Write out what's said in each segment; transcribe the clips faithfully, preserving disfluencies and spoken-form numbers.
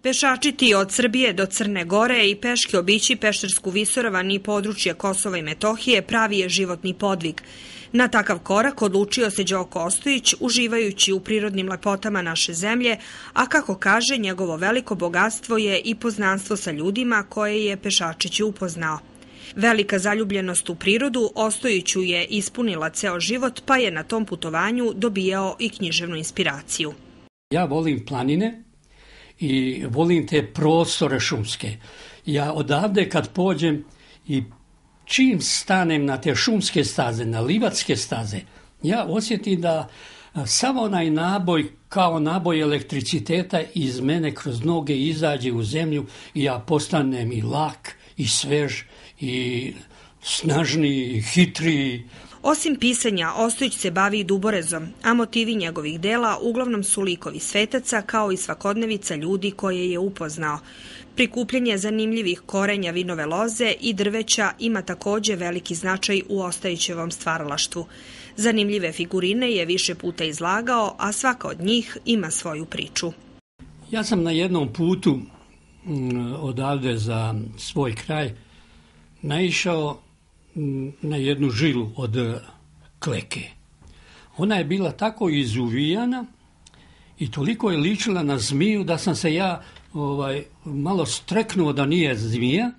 Pešačiti od Srbije do Crne Gore i peške obići Peštersku visoravan i područje Kosova i Metohije pravi je životni podvig. Na takav korak odlučio se Đoko Ostojić, uživajući u prirodnim lepotama naše zemlje, a kako kaže, njegovo veliko bogatstvo je i poznanstvo sa ljudima koje je Pešačić upoznao. Velika zaljubljenost u prirodu Ostojiću je ispunila ceo život, pa je na tom putovanju dobijao i književnu inspiraciju. Ja volim planine i volim te prostore šumske. Ja odavde kad pođem i čim stanem na te šumske staze, na livatske staze, ja osjetim da samo onaj naboj, kao naboj elektriciteta iz mene kroz noge izađe u zemlju i ja postanem i lak, i svež, i snažniji, i hitriji. Osim pisanja, Ostojić se bavi i duborezom, a motivi njegovih dela uglavnom su likovi svetaca kao i svakodnevica ljudi koje je upoznao. Prikupljanje zanimljivih korenja vinove loze i drveća ima takođe veliki značaj u Ostojićevom stvaralaštvu. Zanimljive figurine je više puta izlagao, a svaka od njih ima svoju priču. Ja sam na jednom putu odavde za svoj kraj naišao na jednu žilu od kleke. Ona je bila tako izuvijana i toliko je ličila na zmiju da sam se ja ovaj, malo streknuo da nije zmija.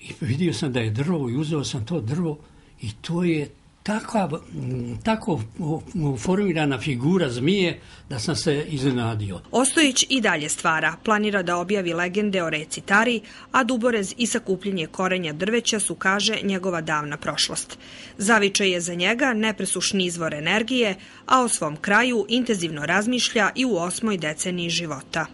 I vidio sam da je drvo i uzeo sam to drvo i to je Taka, tako formirana figura zmije da sam se iznenadio. Ostojić i dalje stvara. Planira da objavi legende o reci Tari, a duborez i sakupljenje korenja drveća su, kaže, njegova davna prošlost. Zavičaj je za njega nepresušni izvor energije, a o svom kraju intenzivno razmišlja i u osmoj deceniji života.